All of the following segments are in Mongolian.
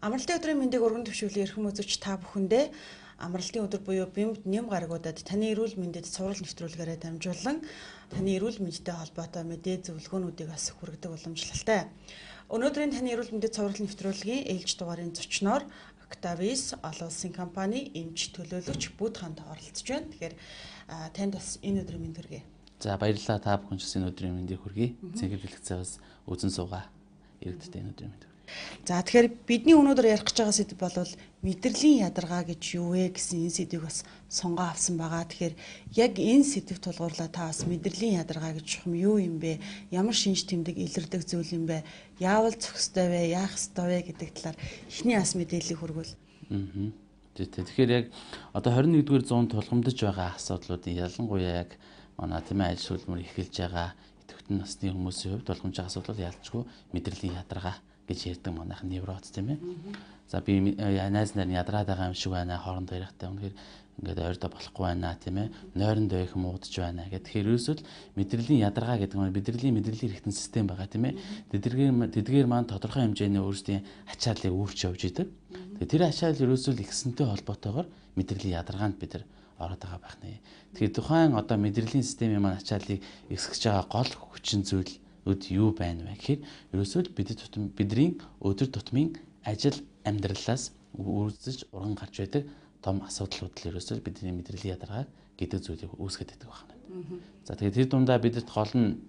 Амралтын өдрийн мэндийг өргөн төвшүүлэн эрхэм үзэгч та бүхэндээ амралтын өдөр буюу бэмд нэм гарагуудад таны эрүүл мэндэд цуврал нэвтрүүлгээрээ дамжуулан таны эрүүл мэндтэй холбоотой мэдээ зөвлөгөөнүүдийг бас хүргэдэг уламжлалтай. Өнөөдрийн таны эрүүл мэндэд цуврал нэвтрүүлгийн ээлж дугаарын зочноор Octavis олон улсын компани эмч төлөөлөгч Бүд ханд оролцож байна. Тэгэхээр танд бас энэ өдрийн мэнд хүргэе. За баярлалаа, та бүхэн ч энэ өдрийн мэндийг хүргэе. Цэнгэл бэлгэцээс үзэн суугаа. Иргэдтэй энэ өдрийн мэнд. За тэгэхээр бидний өнөөдөр ярих гэж байгаа сэдв бол мэдрэлийн ядаргаа гэж юу вэ гэсэн энэ сэдвийг бас сонгоо авсан байгаа. Тэгэхээр яг энэ сэдвт тулгуурлаа та бас мэдрэлийн ядаргаа гэж юу юм бэ? Ямар шинж тэмдэг илэрдэг зүйл юм бэ? Яавал зохистой вэ? Яах ёстой вэ гэдэг талаар эхний бас мэдээллийг хүргвэл. Тэгэхээр яг одоо 21-р зуунд тулгамдж байгаа асуудлуудын ялангуяа яг манай ажил хөдөлмөр эхэлж байгаа идэвхтэн насны хүмүүсийн хувьд тулгамж байгаа асуудал ялцгүй мэдрэлийн ядаргаа гэж ярьдаг манайхан невроз тийм ээ. За би найз нар ядраад байгаа юм шиг байна, хоорондоо ярихтай үнэхээр ингээд ойрдоо болохгүй байна тийм ээ. Нойрондоо их муудаж байна гэх. Тэгэхээр ерөөсөө мэдрэлийн ядаргаа гэдэг нь мэдрэлийн хэрэгтэн систем байгаа тийм ээ. Тэдгээр маань тодорхой хэмжээний өөрсдийн ачааллыг үүрч явж идэг. Тэгэхээр тэр ачаал ерөөсөө ихсэнтэй холбоотойгоор мэдрэлийн ядаргаанд бид нар ороод байгаа байх нэ. Тэгэхээр тухайн одоо мэдрэлийн системийн маань ачааллыг ихсгэж байгаа гол хүчин зүйл юу байна вэ гэхээр ерөөсөө бидний өдөр тутмын ажил амьдралаас үүсэж уран гарч байдаг том асуудлууд л ерөөсөө бидний мэдрэлийн ядаргаа гэдэг зүйлийг үүсгэж байдаг байна. За тэгээд тэр дундаа бидэд гол нь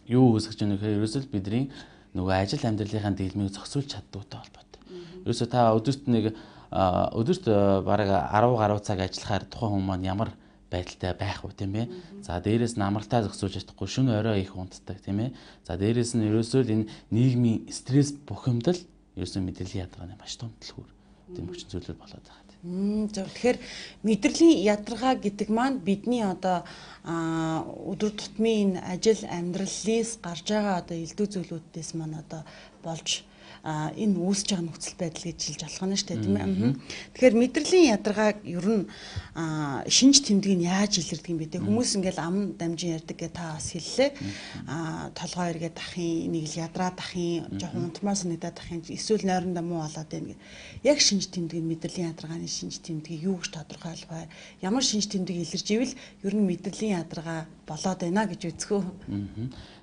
юу үүсгэж байгаа нөхөр ерөөсөө бидний нөгөө ажил амьдралынхаа дийлмийг зохицуулж чаддагтай холбоотой. Ерөөсөө та өдөрт бараг 10 гаруй цаг ажиллахаар тухайн хүмүүс маань ямар байдалтай байх уу тийм ээ. За дээрээс нь амралтаа зохицуулж чадахгүй шөнө орой их унтдаг тийм ээ. За дээрээс нь ерөөсөө энэ нийгмийн стресс бухимдал ерөөсөө мэдрэлийн ядаргааны маш том дэлгүүр тийм хүчин зүйлүүд болоод байгаа. Тэгэхээр мэдрэлийн ядаргаа гэдэг маань бидний одоо өдөр тутмын ажил амьдралээс гарч байгаа одоо элдв зүйлүүдээс маань одоо болж энэ үүсэж байгаа нөхцөл байдал гэж хэлж болох нь шүү дээ тийм ээ. Тэгэхээр мэдрэлийн ядаргааг ер нь шинж тэмдэг нь яаж илэрдэг юм бэ те хүмүүс ингээл ам дамжин ярьдаг гэж та бас хэллээ. Толгой эргээд ахын нэг л ядраад ахын жоохон унтмаар санагдаад ахын эсвэл нойрондоо муу болоод байна гэх. Яг шинж тэмдэг нь мэдрэлийн ядаргааны шинж тэмдгийг юу гэж тодорхойлох вэ? Ямар шинж тэмдэг илэрж ивэл ер нь мэдрэлийн ядаргаа болоод байна гэж үзэх үү?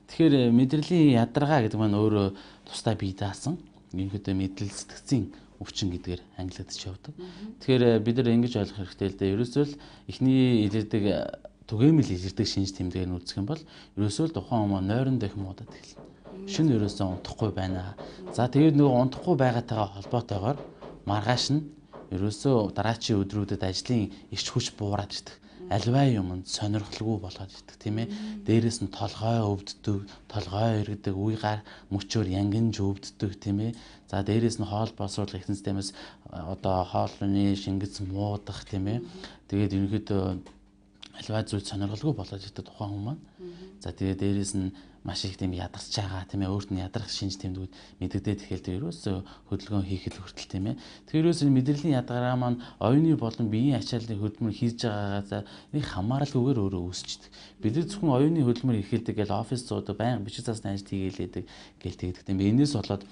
Тэгэхээр мэдрэлийн ядаргаа гэдэг маань өөрөө тусдаа бие даасан ерөнхийдөө мэдрэл сэтгцийн өвчин гэдгээр ангилагдаж явдаг. Тэгэхээр бид нар ингэж ойлгох хэрэгтэй л дээ. Ерөөсөө л эхний илэрдэг түгээмэл илэрдэг шинж тэмдгээр нь үзэх юм бол ерөөсөө л тухайн хүмүүс нойрондоо их муудаад эхэлнэ. Шөнө ерөөсөө унтахгүй байна. За тэгээд нөгөө унтахгүй байгаатайгаа холбоотойгоор маргааш нь ерөөсөө дараачийн өдрүүдэд ажлын эрч хүч буураад ирдэг. Альваа юмд сонирхолгүй болоод ирдэг тийм ээ. Дээрээс нь толгой өвддөг, толгой эргэдэг, үе гар мөчөөр янгинж өвддөг тийм ээ. За дээрээс нь хоол боловсруулах ихэнх системээс одоо хоолны шингэц муудах тийм ээ. Тэгээд ерөнхийдөө альваа зүйл сонирхолгүй болоод ирдэг тухайн хүмүүс маань. За тэгээд дээрээс нь маш их тийм ядарч байгаа тийм ээ. Өөрт нь ядрах шинж тэмдгүүд мэдэгдээд эхэлдэг. Ерөөсөө хөдөлгөөн хийхэд хүртэл тийм ээ. Тэгэхээр ерөөсөө мэдрэлийн ядаргаа маань оюуны болон биеийн ачааллын хөдөлмөр хийж байгаагаа нэг хамааралгүйгээр өөрөө үүсчихдээ. Бид нар зөвхөн оюуны хөдөлмөр эхэлдэг гэж офис суудаг, байнга бичиг засны ажил хийгээд гээл тэгдэг тийм ээ. Энээс болоод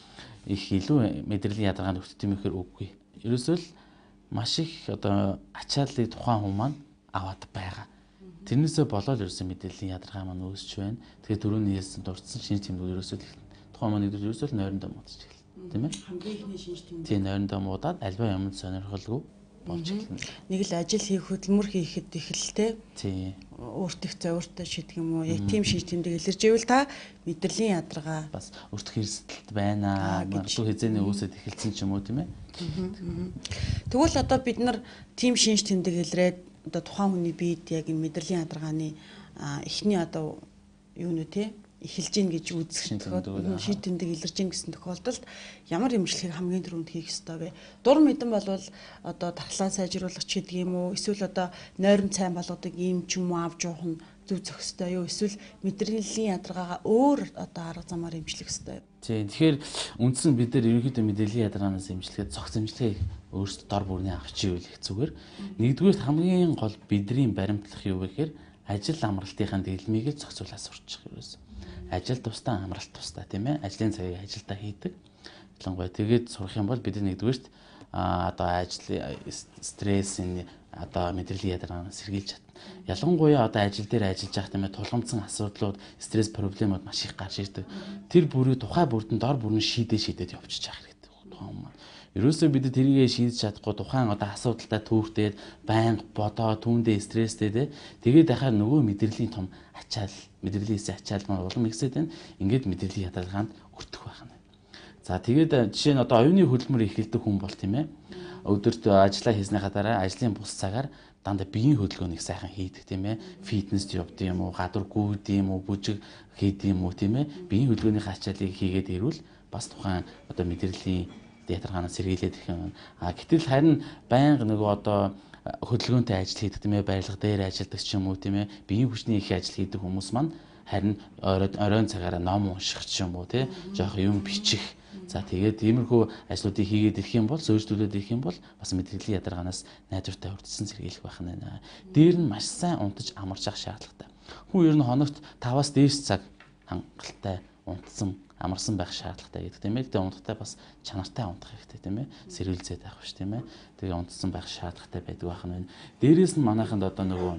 их илүү мэдрэлийн ядаргаанд өвтдөг юм ихээр үгүй. Ерөөсөө л маш их одоо ачааллыг тухайн хүмүүс маань аваад байгаа. Тэрнээсээ болоод ерөөсөө мэдрэлийн ядаргаа маань үүсч байна. Тэгэхээр түрүүний хэлсэн дурдсан шинж тэмдгүүд ерөөсөө тухайн маань ерөөсөө л нойрондоо муудаж эхэлнэ. Тийм ээ? Хамгийн ихний шинж тэмдэг. Тийм нойрондоо муудаад альва юмд сонирхолгүй болж эхэлнэ. Нэг л ажил хийх хөдөлмөр хийхэд эхэлтэй. Тийм. Өөртөө зөөртөө шийдэг юм уу? Яг тийм шинж тэмдэг илэрж ивэл та мэдрэлийн ядаргаа бас өөртөө хэрсэлт байна. Магадгүй хязгаарны үүсэт эхэлсэн ч юм уу тийм ээ? Тэгвэл одоо бид нар тийм шинж тэмдэг илрээд одоо тухайн хүний биед яг энэ мэдрэлийн ядаргааны эхний одоо юу нэ те эхэлж гин гэж үзэх шийд тэмдэг илэрж гин гэсэн тохиолдолд ямар эмчилгээг хамгийн түрүүнд хийх ёстой вэ? Дур мэдэн болвол одоо тархлаа сайжруулах ч гэдэг юм уу? Эсвэл одоо нойрон цайн болгодог юм ч юм уу авч явах нь зөв зохистой юу? Эсвэл мэдрэлийн ядаргаагаа өөр одоо арга замаар эмчлэх ёстой юу? Тийм. Тэгэхээр үндсэн бид нар ерөнхийдөө мэдрэлийн ядаргаанаас эмчилгээд цогц эмчилгээг өөрсдөө дор бүрний авч ивэл их зүгээр. Нэгдүгээр хамгийн гол бидний баримтлах юу вэ гэхээр ажил амралтынхаа дийлмийг л зохицуулаад сурчих ерөөс. Ажил тусдаа амралт тусдаа тийм ээ. Ажлын цагийг ажилдаа хийдэг. ялангуяа тэгээд сурах юм бол бид нэгдүгээрт одоо ажлын стрессийн одоо мэдрэлийн ядаргаанаас сэргийлж чадна. Ялангуяа одоо ажил дээр ажиллаж байх тийм ээ тулгамдсан асуудлууд, стресс проблемууд маш их гарч ирдэг. Тэр бүрийг тухай бүрдэн дор бүрэн шийдээд явчихж явах хэрэгтэй. Тухайн юм. Ерөөсөө бид тэрийгэ шийдэж чадахгүй тухайн одоо асуудалтай түүртээд байнга бодоо түүндээ стресстэй тэгээд дахиад нөгөө мэдрэлийн том ачаал, мэдрэлийн ачаал маань улам ихсээд байна. Ингээд мэдрэлийн ядаргаанд өртөх байх нь. За тэгээд жишээ нь одоо оюуны хөдөлмөр эхэлдэг хүн бол тийм ээ өдөрт ажиллаа хийснийхаа дараа ажлын бус цагаар дандаа биеийн хөдөлгөөнийг сайхан хийдэг тийм ээ фитнест явдаг юм уу гадуур гүйдэг юм уу бүжиг хийдэг юм уу тийм ээ биеийн хөдөлгөөний ачааллыг хийгээд ирвэл бас тухайн одоо мэдрэлийн ядаргаанаас сэргийлээд ирэх юм. Гэтэл харин байнга нөгөө одоо хөдөлгөөнтэй ажил хийдэг тийм ээ барилга дээр ажилладаг ч юм уу тийм ээ биеийн хүчний их ажил хийдэг хүмүүс маань харин оройн цагаараа ном унших ч юм уу тий жоох юм бичих. За тэгээд иймэрхүү ажлуудыг хийгээд ирэх юм бол сөөржлүүлээд ирэх юм бол бас мэдрэлийн ядаргаанаас найдвартай урдсан сэргийлэх байх нь байна. Дээр нь маш сайн унтаж амарч авах шаардлагатай. Хүн ер нь хоногт 5-аас дээш цаг хангалттай унтсан амарсан байх шаардлагатай гэдэг тийм ээ. Тэгээ унтахтаа бас чанартай унтах хэрэгтэй тийм ээ. Сэрүүлзээд байх биш тийм ээ. Тэгээ унтсан байх шаардлагатай байдаг байх нь байна. Дээрээс нь манайханд одоо нөгөө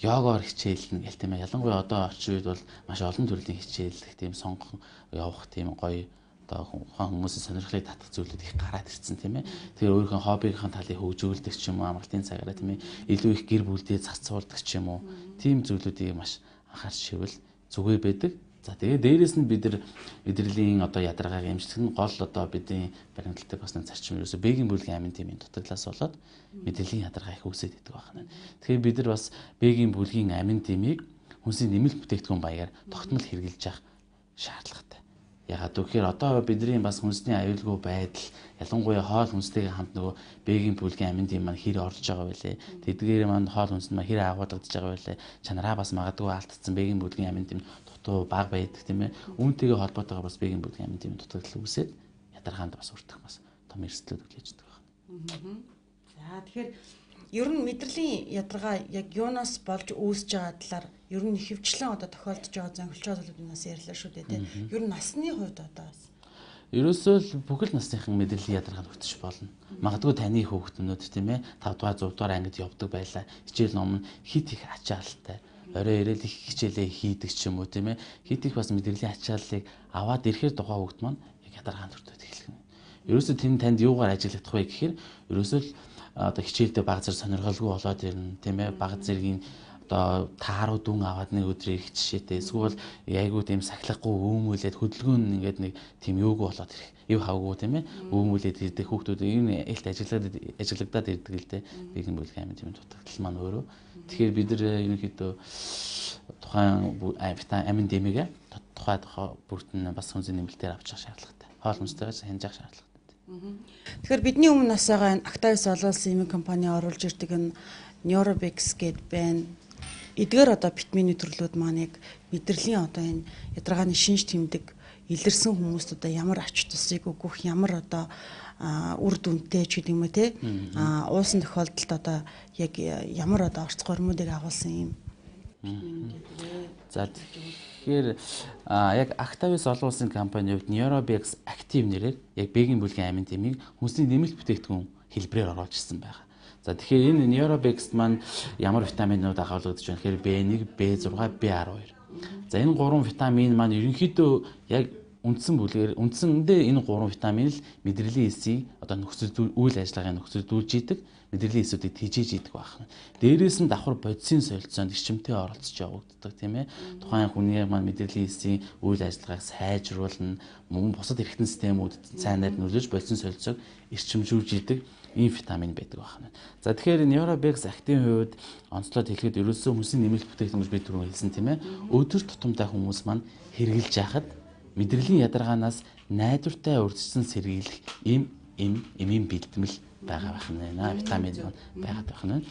йогоор хичээлнэ гэл тийм ээ. Ялангуяа одоо орчин үед бол маш олон төрлийн хичээл тийм сонгох явах тийм гоё одоо хүмүүсийн сонирхлыг татах зүйлүүд их гараад ирсэн тийм ээ. Тэгээ өөрийнхөө хоббигийнхаа талыг хөгжүүлдэг ч юм уу амралтын цагаараа тийм ээ. Илүү их гэр бүлдээ зарцуулдаг ч юм уу. Тийм зүйлүүдийг маш анхаарч шивэл зүгээр байдаг. За тэгээ дээрэс нь мэдрэлийн одоо ядаргааг эмчлэх нь гол одоо бидний баримтлагдаг бас нэг зарчим ерөөсө бэгийн бүлгийн амин тэмийн дутагдлаас болоод мэдрэлийн ядаргаа их үүсээд идэг байна. Тэгэхээр бид нар бас бэгийн бүлгийн амин тэмийг хүнсийн нэмэлт бүтээгдэхүүн баягаар тогтмол хэрэгжилж явах шаардлагатай. Ягаад гэвэл одоо бидний бас хүнсний аюулгүй байдал ялангуяа хоол хүнстэйгээ хамт нөгөө бэгийн бүлгийн амин тим маань хэр орж байгаа байлээ. Тэдгээр маань хоол хүнс маань хэр агуулгадж байгаа байлээ. Чанараа бас магадгүй алдсан бэгийн бүлгийн амин тим дутуу баг байдаг тийм ээ. Үүнтэйгээ холбоотойгоор бас бэгийн бүлгийн амин тим дутагдал үүсээд ядаргаанд бас өртөх бас том эрсдлүүд үлээж байгаа байна. За тэгэхээр ер нь мэдрэлийн ядаргаа яг юунаас болж үүсэж байгаа талаар ер нь хөвчлэн одоо тохиолдож байгаа зөнгөлч зүйлүүднээс ярьлаа шүү дээ тийм. Ер нь насны хувьд одоо ерөөсөө л бүхэл насныхан мэдрэлийн ядаргаанд өртөж болно. Магадгүй таны хүүхднүүд тийм ээ 5 дугаар 6 дугаар ангид явдаг байлаа. Хичээл ном нь хит их ачаалалтай. Орой ирэл их хичээлээ хийдэг ч юм уу тийм ээ. Хит их бас мэдрэлийн ачааллыг аваад ирэхээр тухайн хүүхд маань яг ядаргаанд өртөж эхэлнэ. Ерөөсөө танд юугаар ажиллах вэ гэхээр ерөөсөө л одоо хичээлдээ баг зэрэг сонирхолгүй болоод ирнэ тийм ээ. Баг зэргийн одоо тааруу дүн аваад нэг өдөр ирэх жишээтэй эсвэл айгуу тийм сахилахгүй өөмүүлээд хөдөлгөөн нь ингээд нэг тийм юуг болоод ирэх ив хавгүй тийм ээ өөмүүлээд ирдэг хүүхдүүд энэ элт ажиллагдаад ирдэг л дээ бэгийн бүлгийн амин тийм дутагдал маань өөрөө тэгэхээр бид нар ерөнхийдөө тухайн амин дэмигээ тухай бүрт нь бас хүнсний нэмэлтээр авчих шаардлагатай хоол хүнстэйгээс хянжих шаардлагатай. Тэгэхээр бидний өмнө нас байгаа энэ Actavis олон улсын эмийн компани оруулж ирдэг энэ Neurobex гэдэг байна. Эдгээр одоо витамины төрлүүд маань яг мэдрэлийн одоо энэ ядаргааны шинж тэмдэг илэрсэн хүмүүст одоо ямар ач тусыг өгөх ямар одоо үр дүнтэй ч гэдэг юм уу те уусан тохиолдолд одоо яг ямар одоо орц гормуудыг агуулсан юм. За тэгэхээр яг Actavis олон улсын компани хувьд Neurobex Active нэрээр яг бэгийн бүлгийн амин тэмийг хүнсний нэмэлт бүтээгдэхүүн хэлбэрээр оруулж ирсэн байна. За тэгэхээр энэ Neurobex маань ямар витаминууд агуулгадж байна гэхээр B1, B6, B12. За энэ гурван витамин маань ерөнхийдөө яг үндсэндээ энэ гурван витамин л мэдрэлийн эсийг одоо үйл ажиллагааны нөхцөлдүүлж идэг, мэдрэлийн эсүүдийг тижээж идэг байна. Дээрээс нь давхар бодисын солилцоонд эрчимтэй оролцож явагддаг тийм ээ. Тухайн хүний маань мэдрэлийн эсийн үйл ажиллагааг сайжруулна, мөн бусад эргэтэн системүүд сайнаар нөлөөлж бодисын солилцоог эрчимжүүлж идэг ийм витамин байдаг байна. За тэгэхээр Neurobex Active-ийн хувьд онцлоод хэлэхэд ерөөсөө хүнсний нэмэлт бүтээгдэхүүн гэж би түрүү хэлсэн тийм ээ. Өдөр тутамдаа хүмүүс маань хэрэгжилж яхад мэдрэлийн ядаргаанаас найдвартай урьдчилан сэргийлэх эмийн бэлтгэл байгаа байна. Витамин байгаад байна.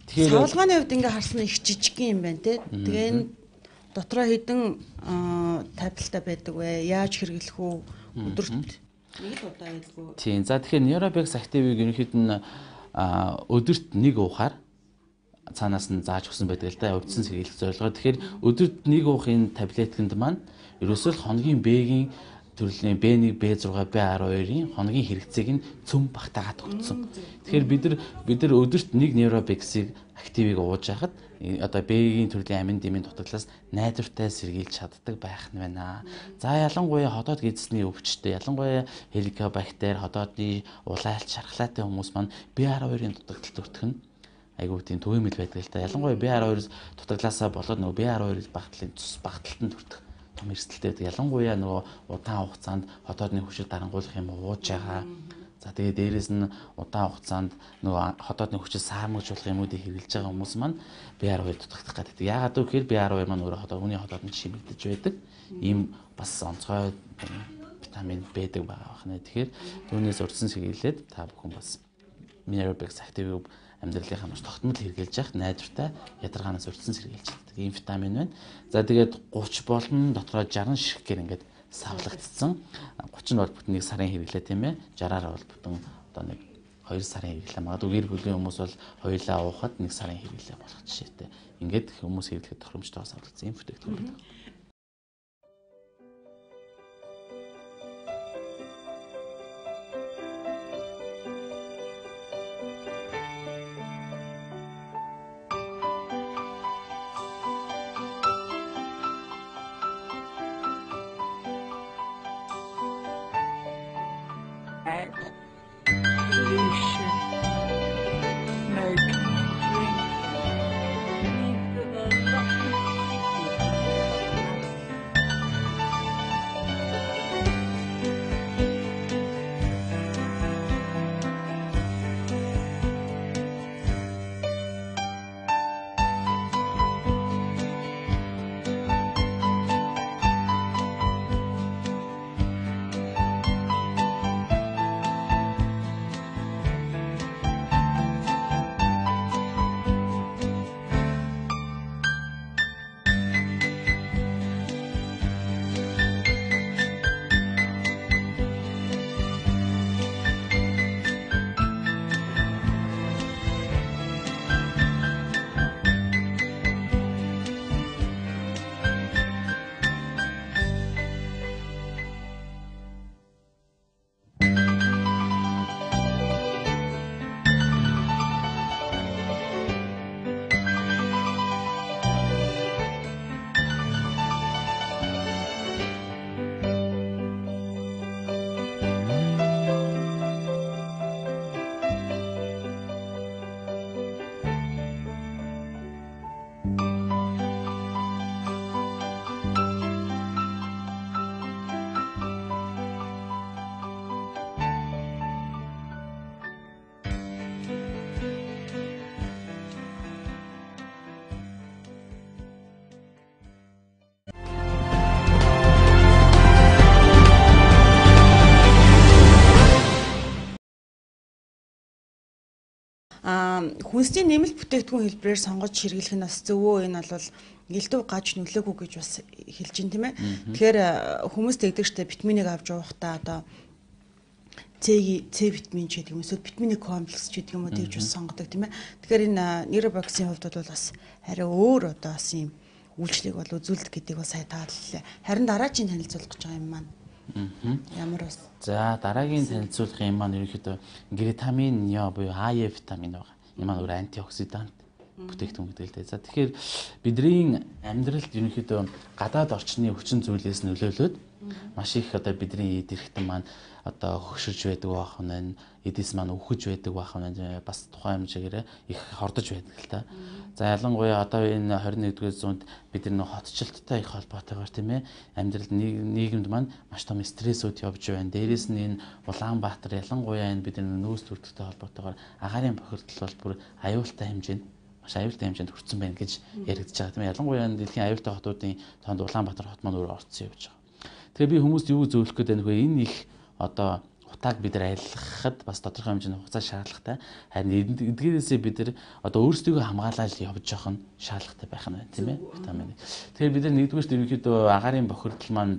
Тэгэхээр савлгааны хувьд ингээ харсан их жижиг юм байна те. Тэгээ энэ дотроо хэдэн тавилттай байдаг вэ? Яаж хэрэглэх үү? Өдөрт нэг л удаа хэлгүй. Тийм. За тэгэхээр Neurobex Active-ийг ерөнхийд нь өдөрт нэг уухаар цаанаас нь зааж өгсөн байдаг л да. Урьдчилан сэргийлэх зорилгоор. Тэгэхээр өдөрт нэг уух энэ таблетканд маань ерөөсөө хоногийн бэгийн төрлийн B1, B6, B12-ын хоногийн хэрэгцээг нь цөм багтаагаад өгсөн. Тэгэхээр бид нар өдөрт 1 нейробексийг активыг ууж хахад одоо B-ийн төрлийн амин дэмийн дутагдлаас найдвартай сэргийлж чаддаг байх нь байна. За ялангуяа хотоод гидсний өвчтөй, ялангуяа хеликобактер, хотоодны улайлт шархлаатай хүмүүс маань B12-ын дутагдалд өртөх нь айгуу тийм төвөмөл байдаг л та. Ялангуяа B12-с дутагдлаасаа болоод нөгөө B12-ийн багтлалын цус багталтанд өртөх том эрсдэлтэй байдаг. Ялангуяа нөгөө удаан хугацаанд хотоодны хүчийг дарангуулах юм ууж байгаа. За тэгээд дээрэс нь удаан хугацаанд нөгөө хотоодны хүчийг саамжуулах юмудыг хэрэглэж байгаа хүмүүс маань B12 дутагдах гэдэг. Яагаад гэвэл B12 маань өөрөө хүний хотоодонд шимэгдэж байдаг. Ийм бас онцгой витамин байдаг байгаа байна. Тэгэхээр түүнээс урьдчилан сэргийлээд та бүхэн бас Minerobex Active амьдралынхаа маш тогтмол хэрэгжилж явах найдвартай ядаргаанаас урьдчилан сэргийлж чаддаг ийм витамин байна. За тэгээд 30 болон дотроо 60 ширхгээр ингээд савлагдсан. 30 бол бүтэн 1 сарын хэрэглээ тийм ээ. 60-аар бол бүтэн одоо нэг 2 сарын хэрэглээ. Магадгүй гэр бүлийн хүмүүс бол хоёулаа уухад 1 сарын хэрэглээ болох жишээтэй. Ингээд хүмүүс хэрэглэхэд тохиромжтой савлагдсан ийм бүтээгдэхүүн байдаг. Хүнсний нэмэлт бүтээгдэхүүн хэлбэрээр сонгож хэрэглэх нь бас зөвөө. Энэ бол элдв гаж нөлөөгүй гэж бас хэлж байна тийм ээ. Тэгэхээр хүмүүс тэгдэг штэ витаминыг авч уухдаа одоо С витамин ч гэдэг юм эсвэл витамины комплекс ч гэдэг юм уу тэгж бас сонгодог тийм ээ. Тэгэхээр энэ Minerobex-ийн хувьд бол бас арай өөр одоо бас ийм үйлчлэг бол үзүүлдэг гэдгийг бас сайн тааллаа. Харин дараагийн танилцуулах гэж байгаа юм маань. Ямар бас. За дараагийн танилцуулах юм маань ерөнхийдөө гретамин Е буюу АЕ витамин байгаа. Энэ маань өөр антиоксидант бүтээгдэхүүн гэдэг л дээ. За тэгэхээр бидний амьдралд ерөнхийдөө гадаад орчны хүчин зүйлээс нөлөөлөд маш их одоо бидний эд эрхтэн маань одоо хөгшөрж байдаг байх нь, эдис маань өвхөж байдаг байх нь бас тухайн хэмжээгээр их хордож байдаг л та. За ялангуяа одоо энэ 21-р зуунд бид нар хотчлолттой их холбоотойгоор тийм ээ амьдралд нийгэмд маань маш том стрессүүд явж байна. Дээрээс нь энэ Улаанбаатар ялангуяа энэ бид нар нөөц төрөлттэй холбоотойгоор агаарын бохирдол бол бүр аюултай хэмжээнд маш аюултай хэмжээнд хүрсэн байна гэж яригдж байгаа тийм ээ. Ялангуяа дэлхийн аюултай хотуудын тоонд Улаанбаатар хот маань өөрөө орцсон явж байгаа. Тэгэхээр би хүмүүст юу зөвлөх гээд байна вэ? Энэ их одоо утааг бид нар айлгахад бас тодорхой хэмжээний хугацаа шаардлагатай. Харин эдгээрээсээ бид нар одоо өөрсдийгөө хамгаалаад явж явах нь шаардлагатай байх нь байна тийм ээ. Витамин. Тэгэхээр бид нар нэгдүгээрт ерөнхийдөө агаарын бохирдол маань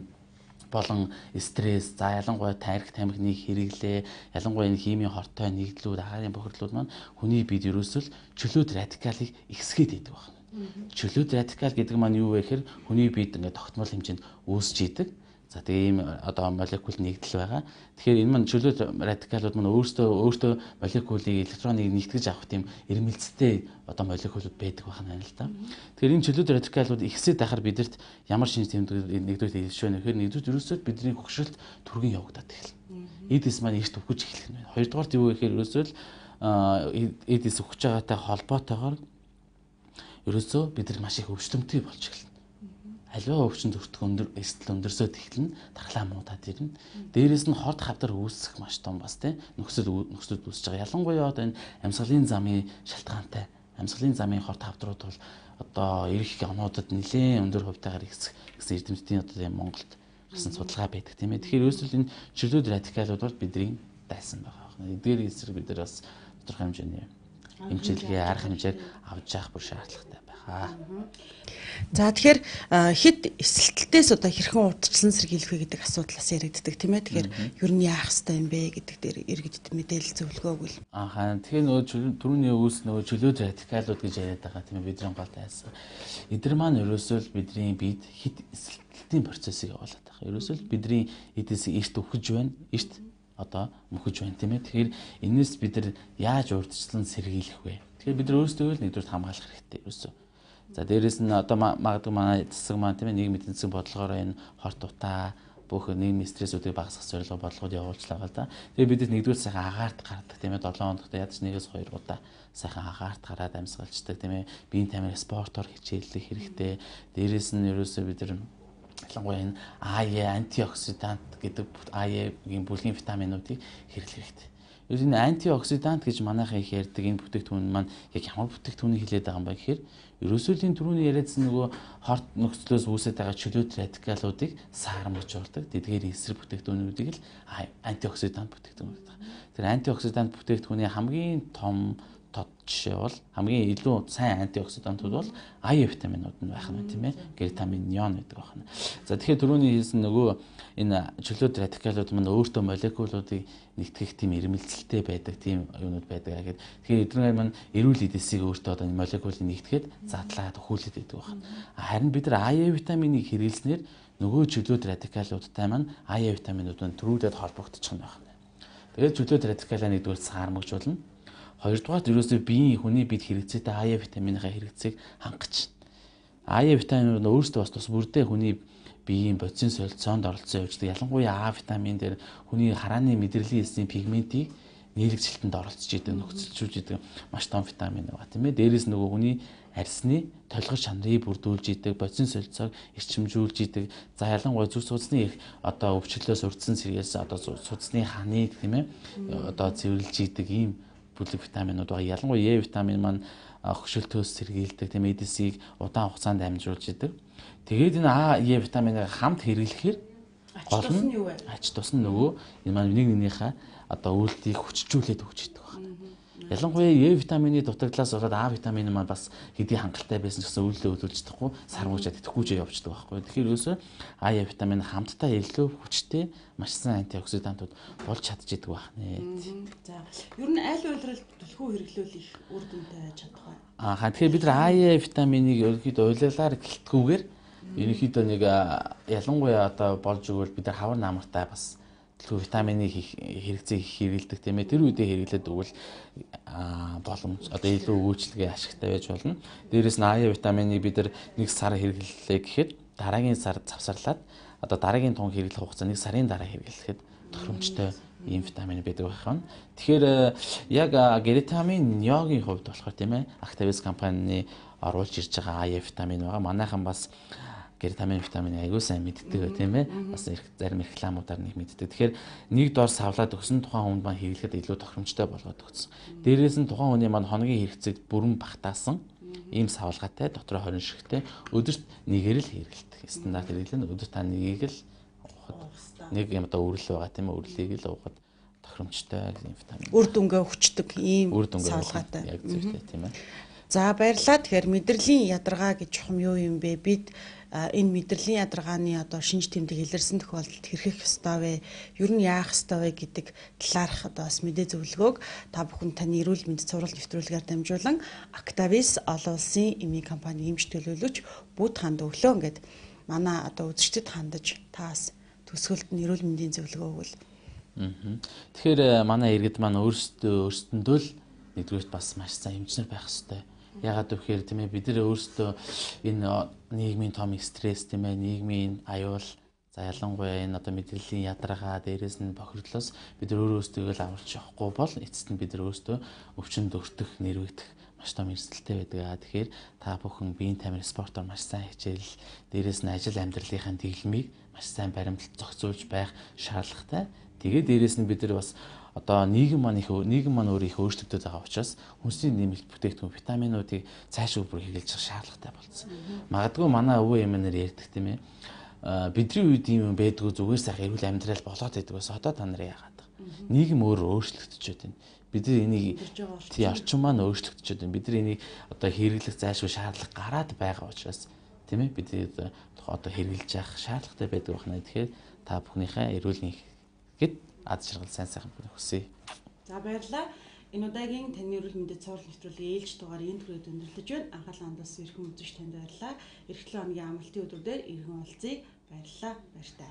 болон стресс, за ялангуяа тарих тамхины хэрэглээ, ялангуяа энэ химийн хортой нэгдлүүд, агаарын бохирдлууд маань хүний биед ерөөсөл чөлөөт радикалыг ихсгээд идэг байна. Чөлөөт радикал гэдэг маань юу вэ гэхээр хүний биед ингээд тогтмол хэмжээнд үүсч идэг. За тэгээ ийм одоо молекул нэгдэл байгаа. Тэгэхээр энэ маань чөлөө радикалууд маань өөртөө молекулыг электроныг нэгтгэж авах тийм ирмэлцтэй одоо молекулууд байдаг байна л да. Тэгэхээр энэ чөлөө радикалууд ихсээд байхаар бидэрт ямар шинж тэмдэг нэгдүгээр хэлшвэ нөхөр нэгдүгээр ерөөсөө бидний хөгшрөлт түргэн явагдаад эхэлнэ. Эдис маань эрт өгч эхлэх нь байна. Хоёрдугаар юу гэхээр ерөөсөө л эдис өгч байгаатай холбоотойгоор ерөөсөө бид нар маш их өвчтөмтэй болж эхэлнэ. Аливаа өвчин төртгөн эстэл өндөрсөд эхэлнэ, дархлаа муудаад ирнэ. Дээрээс нь хорт хавдар үүсэх маш том бас тийм нөхцөл үүсэж байгаа. Ялангуяа одоо энэ амьсгалын замын шалтгаантай амьсгалын замын хорт хавдрууд бол одоо ирэх онуудад нэлээд өндөр хувьтайгаар ихсэх гэсэн эрдэмтдийн одоо тийм Монголд гэсэн судалгаа байдаг тийм ээ. Тэгэхээр ерөөсөө энэ чөлөөт радикалууд бол бидний дайсан байгаа. Эдгээр эсрэг бид нар бас тодорхой хэмжээний эмчилгээ арга хэмжээг авч явах бүр шаардлагатай байгаа. За тэгэхээр хэд эсэлтэлтээс одоо хэрхэн урдчлан сэргийлэх вэ гэдэг асуудал бас яригддаг тийм ээ. Тэгэхээр ер нь яах ёстой юм бэ гэдэг дээр иргэдэд мэдээлэл зөвлөгөө өгвөл. Тэгэхээр нөгөө түрүүний өвс нөгөө чөлөөт радикалууд гэж яриад байгаа тийм ээ. Бидний гол тайсан. Эдгээр маань ерөөсөө л бидний биед хэд эсэлтэлтийн процессыг явуулаад байгаа. Ерөөсөө л бидний эдээс эрт өгөж байна. Эрт одоо мөхөж байна тийм ээ. Тэгэхээр энэс бид нар яаж урдчлан сэргийлэх вэ? Тэгэхээр бид нар өөрсдөө л нэгдүгээр хамгаалах хэрэгтэй ерөөсөө. За дээрэс нь одоо магадгүй манай засаг маань тийм ээ нийгмийн эдийн засгийн бодлогоор энэ хорт утаа бүх нийгмийн стрессүүдийг багасгах зорилгоор бодлогод явуулчихлаа да. Тэгээ бидэд нэгдүгээр сайхан агаарт гардаг тийм ээ 7 хоногт ядаж 1-2 удаа сайхан агаарт гараад амьсгалцдаг тийм ээ биеийн тамирын спортоор хичээллэх хэрэгтэй. Дээрэс нь ерөөсөө бид нар ялангуяа энэ антиоксидант гэдэг АЕ-гийн бүлгийн витаминуудыг хэрэглэх хэрэгтэй. Ер нь антиоксидант гэж манайхан их ярьдаг энэ бүтээгдэхүүн маань яг ямар бүтээгдэхүүнийг хэлээд байгаа юм бэ гэхээр ерөөсөө л энэ түрүүний яриадсан нөгөө хорт нөхцлөөс үүсэж байгаа чөлөөт радикалуудыг саармжуулдаг тэдгээр эсрэг бүтээгдэхүүнүүдийг л антиоксидант бүтээгдэхүүн гэдэг. Тэр антиоксидант бүтээгдэхүүний хамгийн том жишээ бол хамгийн илүү сайн антиоксидантууд бол АЕ витаминууд нь байх нь тийм ээ. Гертамин, неон гэдэг байна. За тэгэхээр түрүүний хэлсэн нөгөө энэ чөлөөт радикалууд маань өөртөө молекулуудыг нэгтгэх тийм ирмэлцэлтэй байдаг тийм юмнууд байдаг гэдэг. Тэгэхээр эдгээр маань эрүүл эдисийг өөртөө одоо молекулыг нэгтгэхэд задлаад өхүүлээд байдаг байна. Харин бид нар АЕ витаминыг хэрэглэснээр нөгөө чөлөөт радикалуудтай маань АЕ витаминууд нь төрүүлээд холбогдчих нь байна. Тэгээд чөлөөт радикалаа нэгдүгээр саармагжуулна. Хоёрдугаар ерөөсөө биеийн хүний бид хэрэгцээтэй АЕ витаминыхаа хэрэгцээг хангаж байна. АЕ витаминууд нь өөрсдөө бас тус бүрдээ хүний биеийн бодисын солилцоонд оролцсон явждаг. Ялангуяа А витамин дээр хүний харааны мэдрэлийн эсийн пигментийг нийлэгжилтэнд оролцож идэг, нөхцөлжүүлж идэг маш том витамин байгаа тийм ээ. Дээрээс нөгөө хүний арьсны толгой чанарыг бүрдүүлж идэг, бодисын солилцоог эрчимжүүлж идэг. За ялангуяа зүрх судасны одоо өвчлөлөөс урдсан сэргийлсэн одоо судасны ханыг тийм ээ одоо цэвэрлж идэг ийм бүлэг витаминууд байгаа. Ялангуяа Е витамин маань хөгшөлтөөс сэргийлдэг тийм эдисийг удаан хугацаанд амжуулж идэг. Тэгээд энэ А, Е витаминыг хамт хэрэглэхээр гол нь ач тус нь нөгөө энэ маань нэг нэгнийхээ одоо үйлдэлийг хүчжүүлээд өгч идэг байна. Ялангуяа Е витамины дутагдлаас болоод А витамин маань бас хэдий хангалттай байсан ч гэсэн үйлдэлээ хөдөлж чадахгүй сармуужаад идэхгүйж явждаг байхгүй. Тэгэхээр ерөөсөө А, Е витамин хамтдаа илүү хүчтэй маш сайн антиоксидантууд болж чадчихдаг байна. За ер нь аль уйлрал түлхүү хэрэглүүл их үр дүнтэй байж чадах вэ? Тэгэхээр бид нар А витаминыг ерөнхийдөө уйлалаар гэлтгүүгээр ерөнхийдөө нэг ялангуяа одоо болж өгвөл бид нар хавар намартай бас түлхүү витамины хэрэгцээг хэрэгэлдэг тийм ээ. Тэр үедээ хэрэглээд өгвөл боломж одоо илүү үйлчлэгээ ашигтай байж болно. Дээрээс нь А витаминыг бид нар нэг сар хэрэглэлээ гэхэд дараагийн сар завсарлаад одоо дараагийн тун хэрэглэх хугацаа нэг сарын дараа хэрэглэхэд тохиромжтой ийм витамин байдаг байна. Тэгэхээр яг гертамин неогийн хувьд болохоор тийм ээ Actavis компани оруулж ирж байгаа А витамин байгаа. Манайхан бас гертамин витамин аягүй сайн мэддэг тийм ээ. Бас зарим рекламуудаар нэг мэддэг. Тэгэхээр нэг дор савлаад өгсөн тухайн хүнд маань хэрэглэхэд илүү тохиромжтой болгоод өгсөн. Дээрээс нь тухайн хүний маань хоногийн хэрэгцээг бүрэн багтаасан ийм савлгаатай дотроо 20 шигтэй өдөрт нэгээр л хэрэглэдэг. Стандарт хэрэглэн өдөрт та нэгийг л нэг юм одоо үрэл байгаа тийм ээ. Үрлийг л уугаад тохиромжтой ийм витамин. Үр дүнгээ хүчдэг ийм савлгаатай. Яг зөвтэй тийм ээ. За баярлалаа. Тэгэхээр мэдрэлийн ядаргаа гэж чухам юу юм бэ? Бид энэ мэдрэлийн ядаргааны одоо шинж тэмдэг илэрсэн тохиолдолд хэрхэх ёстой вэ? Ер нь яах ёстой вэ гэдэг талаарх одоо бас мэдээ зөвлөгөөг та бүхэн таны эрүүл мэндийн цуврал нэвтрүүлгээр дамжуулан Actavis олон улсын эмийн компани эмч төлөөлөгч Бүт ханд өглөө ингээд манай одоо үзэгчдэд хандаж таас төсөөлт нь эрүүл мэндийн зөвлөгөө өгвөл. Тэгэхээр манай иргэд маань өөрсдөндөө л нэгдүгээрт бас маш сайн эмчнэр байх хэрэгтэй. Ягаад гэвэл тийм ээ бид нар өөрсдөө энэ нийгмийн том стресс тийм ээ нийгмийн аюул за ялангуяа энэ одоо мэдрэлийн ядаргаа дээрээс нь бохирдлоос бид нар өөрөөсдөө л аварч явахгүй бол эцэст нь бид нар өөрсдөө өвчнөд өртөх, нэрвэгдэх маш том эрсдэлтэй байдаг. Тэгэхээр та бүхэн биеийн тамир спортоор маш сайн хичээл дээрээс нь ажил амьдралынхаа дэглэмийг маш сайн баримтлж зохицуулж байх шаардлагатай. Тэгээд дээрээс нь бид нар бас одоо нийгэм маань өөр их өөрчлөгдөж байгаа учраас хүнсний нэмэлт бүтээгдэхүүн витаминуудыг цаашгүй бүр хэрэглэж явах шаардлагатай болсон. Магадгүй манай өвөө эмээнэр ярьдаг тийм ээ. Бидний үед юм байдгүй зүгээр сайхан эрүүл амьдрал болоод байдаг бас одоо та нар яагаад вэ? Нийгэм өөрөө өөрчлөгдөж байна. Бид нар энийг орчин маань өөрчлөгдөж байна. Бид нар энийг одоо хэрэглэх зайлшгүй шаардлага гараад байгаа учраас тийм ээ бид одоо хэрэглэж явах шаардлагатай байдаг байна. Тэгэхээр та бүхнийхээ эрүүл гэд аз жаргал сайн хүсье. За баярлалаа. Энэ удаагийн таны эрүүл мэндэд цаурал нэвтрүүлгийн ээлж дугаар энэ түрээд өндөрлөж байна. Анхаалан хандаас эрхэм үзэгч танд баярлалаа. Эх 7 хоногийн амралтын өдрүүдээр эрхэм уулзъя. Баярлалаа. Баяртай.